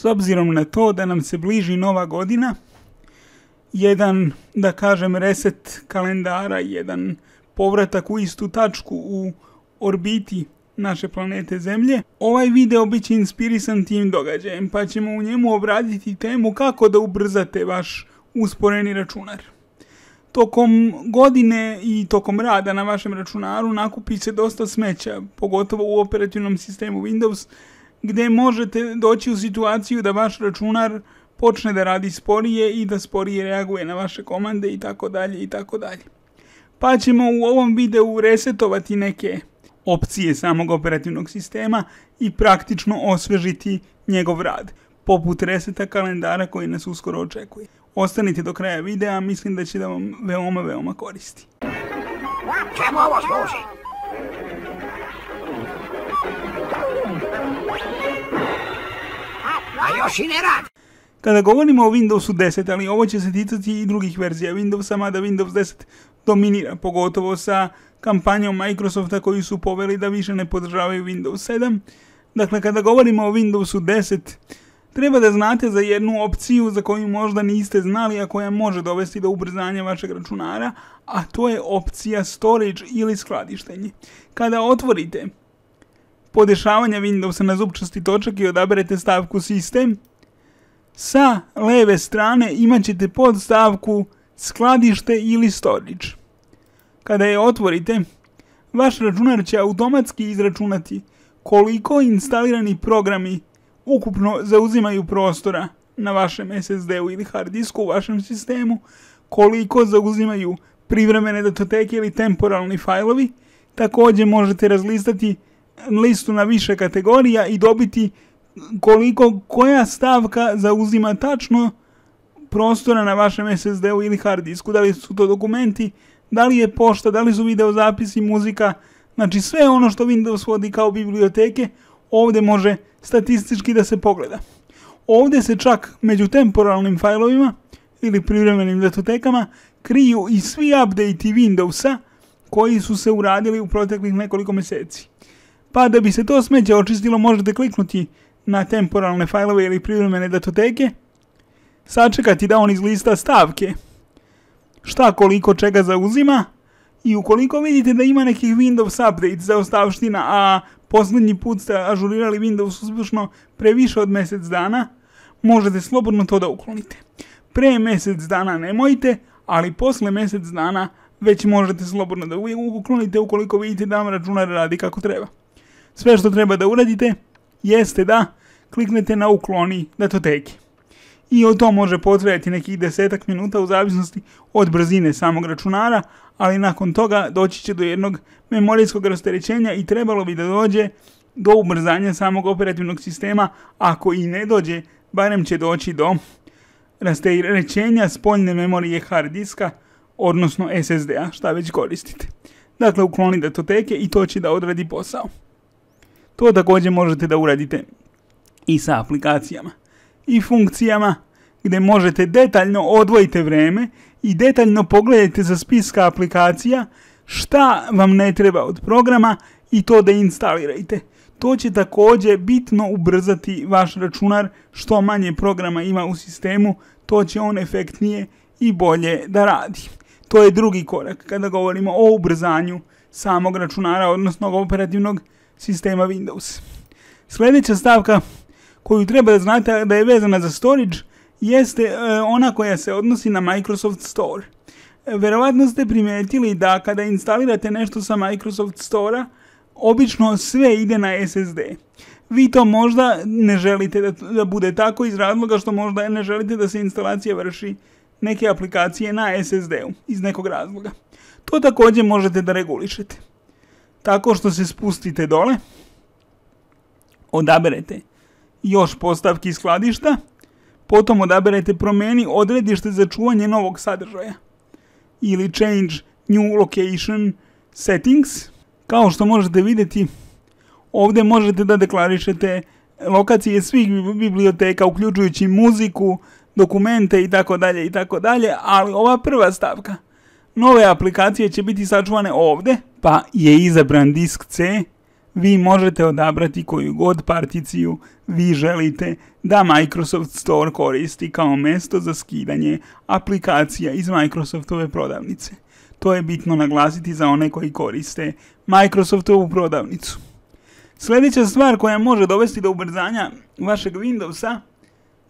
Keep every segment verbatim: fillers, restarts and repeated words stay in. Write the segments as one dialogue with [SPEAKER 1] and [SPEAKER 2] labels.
[SPEAKER 1] S obzirom na to da nam se bliži nova godina, jedan, da kažem, reset kalendara, jedan povratak u istu tačku u orbiti naše planete Zemlje, ovaj video bit će inspirisan tim događajem, pa ćemo u njemu obraditi temu kako da ubrzate vaš usporeni računar. Tokom godine i tokom rada na vašem računaru nakupi se dosta smeća, pogotovo u operativnom sistemu Windows, gdje možete doći u situaciju da vaš računar počne da radi sporije i da sporije reaguje na vaše komande i tako dalje i tako dalje. Pa ćemo u ovom videu resetovati neke opcije samog operativnog sistema i praktično osvežiti njegov rad, poput reseta kalendara koji nas uskoro očekuje. Ostanite do kraja videa, mislim da će da vam veoma, veoma koristi.
[SPEAKER 2] Čemu ovo služi? A još i ne radi.
[SPEAKER 1] Kada govorimo o Windowsu deset, ali ovo će se ticati i drugih verzija Windowsa, mada Windows deset dominira, pogotovo sa kampanjom Microsofta koji su poveli da više ne podržavaju Windows sedam. Dakle, kada govorimo o Windowsu deset, treba da znate za jednu opciju za koju možda niste znali, a koja može dovesti do ubrzanja vašeg računara, a to je opcija Storage ili skladištenje. Kada otvorite podešavanje Windowsa na zupčasti točak i odaberete stavku System, sa leve strane imat ćete podstavku Skladište ili Storage. Kada je otvorite, vaš računar će automatski izračunati koliko instalirani programi ukupno zauzimaju prostora na vašem es es de u ili hard disku u vašem sistemu, koliko zauzimaju privremene datoteke ili temporalni fajlovi. Također možete razlistati listu na više kategorija i dobiti koliko koja stavka zauzima tačno prostora na vašem es es de u ili hard disku. Da li su to dokumenti, da li je pošta, da li su videozapisi, muzika, znači sve ono što Windows vodi kao biblioteke, ovdje može statistički da se pogleda. Ovdje se čak među temporalnim fajlovima ili privremenim datotekama kriju i svi update-i Windowsa koji su se uradili u proteklih nekoliko mjeseci. Pa da bi se to smeće očistilo, možete kliknuti na temporalne fajlove ili privremene datoteke, sačekati da on izlista stavke, šta koliko čega zauzima, i ukoliko vidite da ima nekih Windows update zaostavština, a posljednji put ste ažurirali Windows uspješno pre više od mjesec dana, možete slobodno to da uklonite. Pre mjesec dana nemojte, ali posle mjesec dana već možete slobodno da uklonite ukoliko vidite da vam računar radi kako treba. Sve što treba da uradite jeste da kliknete na ukloni datoteke. I o to može potrajati nekih desetak minuta u zavisnosti od brzine samog računara, ali nakon toga doći će do jednog memorijskog rasterećenja i trebalo bi da dođe do ubrzanja samog operativnog sistema. Ako i ne dođe, barem će doći do rasterećenja spoljne memorije hard diska, odnosno es es de-a, šta već koristite. Dakle, ukloni datoteke i to će da odradi posao. To također možete da uradite i sa aplikacijama i funkcijama, gdje možete detaljno odvojite vreme i detaljno pogledajte za spiska aplikacija šta vam ne treba od programa i to da instalirajte. To će također bitno ubrzati vaš računar. Što manje programa ima u sistemu, to će on efektnije i bolje da radi. To je drugi korak kada govorimo o ubrzanju samog računara, odnosno operativnog sistema Windows. Sljedeća stavka koju treba da znate da je vezana za storage jeste e, ona koja se odnosi na Microsoft Store. E, verovatno ste primijetili da kada instalirate nešto sa Microsoft Store-a, obično sve ide na es es de. Vi to možda ne želite da, da bude tako iz razloga što možda ne želite da se instalacija vrši neke aplikacije na es es de-u iz nekog razloga. To također možete da regulišete tako što se spustite dole, odaberete još postavki skladišta, potom odaberete promijeni odredište za čuvanje novog sadržaja ili change new location settings. Kao što možete vidjeti, ovdje možete da deklarišete lokacije svih biblioteka, uključujući muziku, dokumente itd. itd. Ali ova prva stavka, nove aplikacije će biti sačuvane ovdje, pa je izabran disk C, vi možete odabrati koju god particiju vi želite da Microsoft Store koristi kao mjesto za skidanje aplikacija iz Microsoftove prodavnice. To je bitno naglasiti za one koji koriste Microsoftovu prodavnicu. Sljedeća stvar koja može dovesti do ubrzanja vašeg Windowsa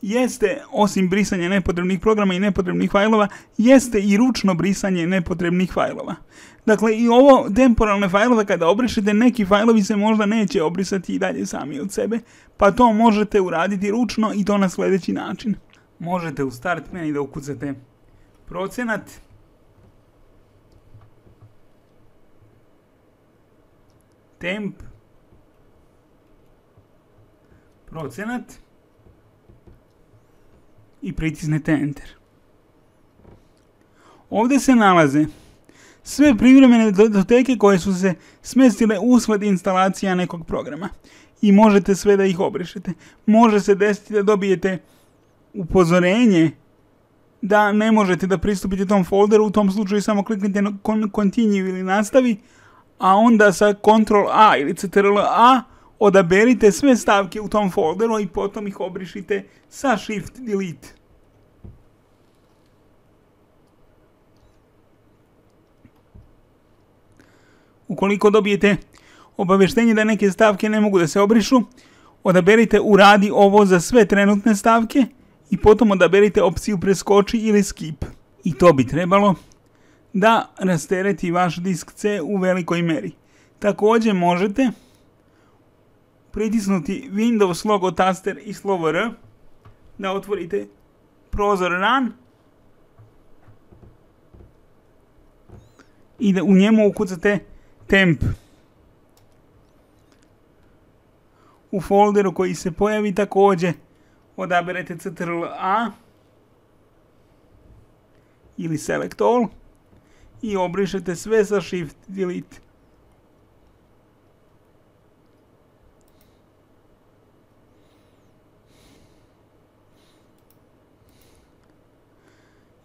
[SPEAKER 1] jeste, osim brisanja nepotrebnih programa i nepotrebnih fajlova, jeste i ručno brisanje nepotrebnih fajlova. Dakle, i ovo temporalne fajlove kada obrišete, neki fajlovi se možda neće obrisati i dalje sami od sebe, pa to možete uraditi ručno i to na sljedeći način. Možete u Start menu da ukucate procenat, temp, procenat i pritisnete Enter. Ovdje se nalaze sve privremene datoteke koje su se smjestile usled instalacija nekog programa i možete sve da ih obrišete. Može se desiti da dobijete upozorenje da ne možete da pristupite tom folderu, u tom slučaju samo kliknite na Continue ili nastavi, a onda sa Ctrl A ili Ctrl A odaberite sve stavke u tom folderu i potom ih obrišite sa Shift Delete. Ukoliko dobijete obavještenje da neke stavke ne mogu da se obrišu, odaberite uradi ovo za sve trenutne stavke i potom odaberite opciju preskoči ili skip. I to bi trebalo da rastereti vaš disk C u velikoj meri. Također možete pritisnuti Windows logo taster i slovo R, da otvorite prozor Run i da u njemu ukucate temp. U folderu koji se pojavi također odaberete Ctrl A ili Select All i obrišete sve sa Shift Delete.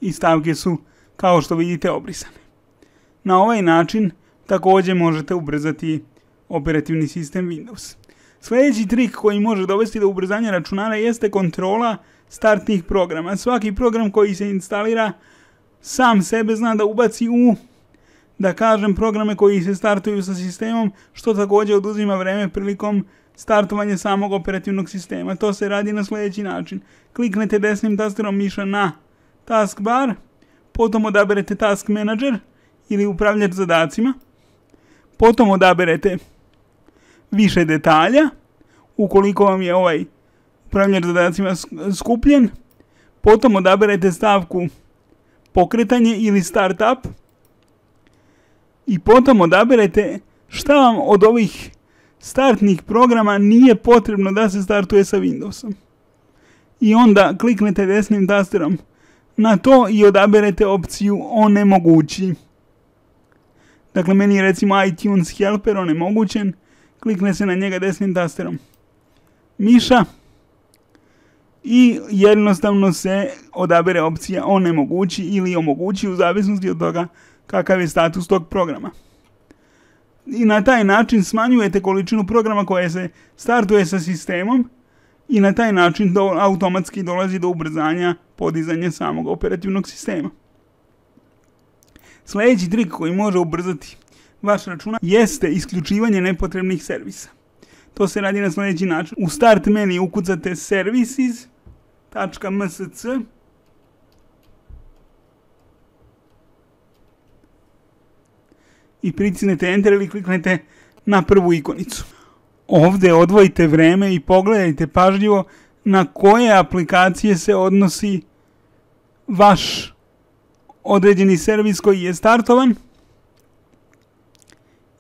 [SPEAKER 1] I stavke su, kao što vidite, obrisane. Na ovaj način također možete ubrzati operativni sistem Windows. Sljedeći trik koji može dovesti do ubrzanja računara jeste kontrola startnih programa. Svaki program koji se instalira sam sebe zna da ubaci u, da kažem, programe koji se startuju sa sistemom, što također oduzima vreme prilikom startovanja samog operativnog sistema. To se radi na sljedeći način. Kliknete desnim tasterom miša na taskbar, potom odaberete Task Manager ili upravljač zadacima, potom odaberete više detalja, ukoliko vam je ovaj upravljač zadacima skupljen, potom odaberete stavku pokretanje ili startup i potom odaberete šta vam od ovih startnih programa nije potrebno da se startuje sa Windowsom. I onda kliknete desnim tasterom na to i odaberete opciju onemogući. Dakle, meni je recimo iTunes Helper onemogućen, klikne se na njega desnim tasterom miša i jednostavno se odabere opcija onemogući ili omogući u zavisnosti od toga kakav je status tog programa. I na taj način smanjujete količinu programa koje se startuje sa sistemom i na taj način do, automatski dolazi do ubrzanja podizanja samog operativnog sistema. Sljedeći trik koji može ubrzati vaš računar jeste isključivanje nepotrebnih servisa. To se radi na sljedeći način. U Start menu ukucate services tačka em es ce i pritisnete Enter ili kliknete na prvu ikonicu. Ovdje odvojite vreme i pogledajte pažljivo na koje aplikacije se odnosi vaš određeni servis koji je startovan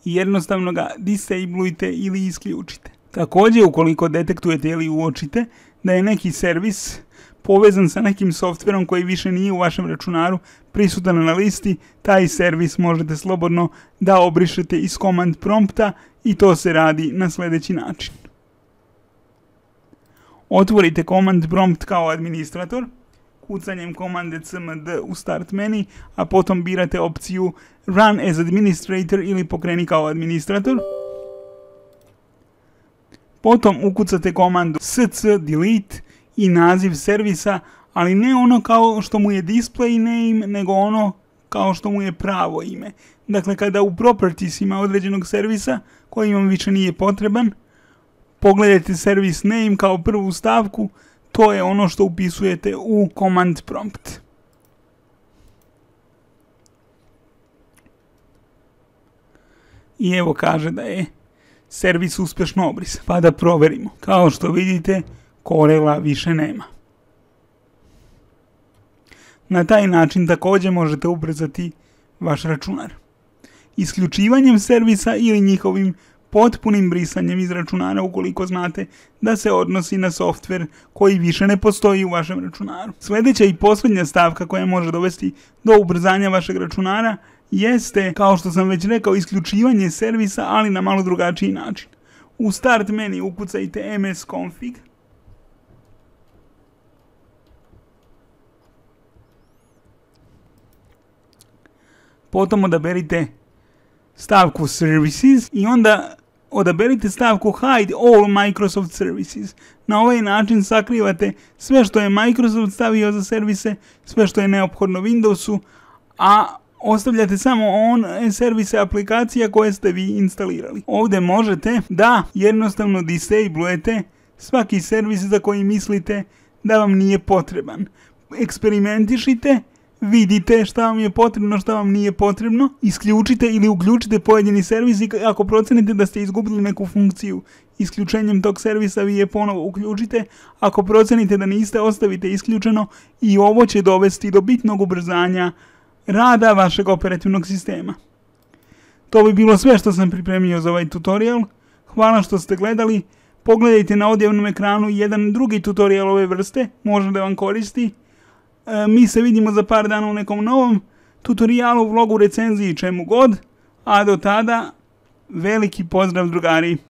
[SPEAKER 1] i jednostavno ga disablujte ili isključite. Također, ukoliko detektujete ili uočite da je neki servis povezan sa nekim softverom koji više nije u vašem računaru prisutan na listi, taj servis možete slobodno da obrišete iz command prompta i to se radi na sljedeći način. Otvorite command prompt kao administrator, kucanjem komande cmd u Start menu, a potom birate opciju Run as Administrator ili pokreni kao administrator. Potom ukucate komandu sc delete i naziv servisa, ali ne ono kao što mu je display name, nego ono kao što mu je pravo ime. Dakle, kada u propertiesima određenog servisa, koji vam više nije potreban, pogledajte service name kao prvu stavku, to je ono što upisujete u command prompt. I evo kaže da je servis uspješno obrisan. Pa da proverimo. Kao što vidite, Corela više nema. Na taj način također možete ubrzati vaš računar. Isključivanjem servisa ili njihovim potpunim brisanjem iz računara ukoliko znate da se odnosi na softver koji više ne postoji u vašem računaru. Sljedeća i posljednja stavka koja može dovesti do ubrzanja vašeg računara jeste, kao što sam već rekao, isključivanje servisa, ali na malo drugačiji način. U start menu ukucajte msconfig. Potom odaberite stavku Services i onda odaberite stavku Hide all Microsoft Services. Na ovaj način sakrivate sve što je Microsoft stavio za servise, sve što je neophodno Windowsu, a ostavljate samo one servise aplikacija koje ste vi instalirali. Ovdje možete da jednostavno disablujete svaki servis za koji mislite da vam nije potreban. Eksperimentišite, vidite šta vam je potrebno, šta vam nije potrebno, isključite ili uključite pojedini servis i ako procenite da ste izgubili neku funkciju isključenjem tog servisa, vi je ponovo uključite. Ako procenite da niste, ostavite isključeno i ovo će dovesti do bitnog ubrzanja rada vašeg operativnog sistema. To bi bilo sve što sam pripremio za ovaj tutorial. Hvala što ste gledali. Pogledajte na odjavnom ekranu jedan drugi tutorial ove vrste, može da vam koristi. E, mi se vidimo za par dana u nekom novom tutorialu, vlogu, recenziji, čemu god. A do tada, veliki pozdrav drugari!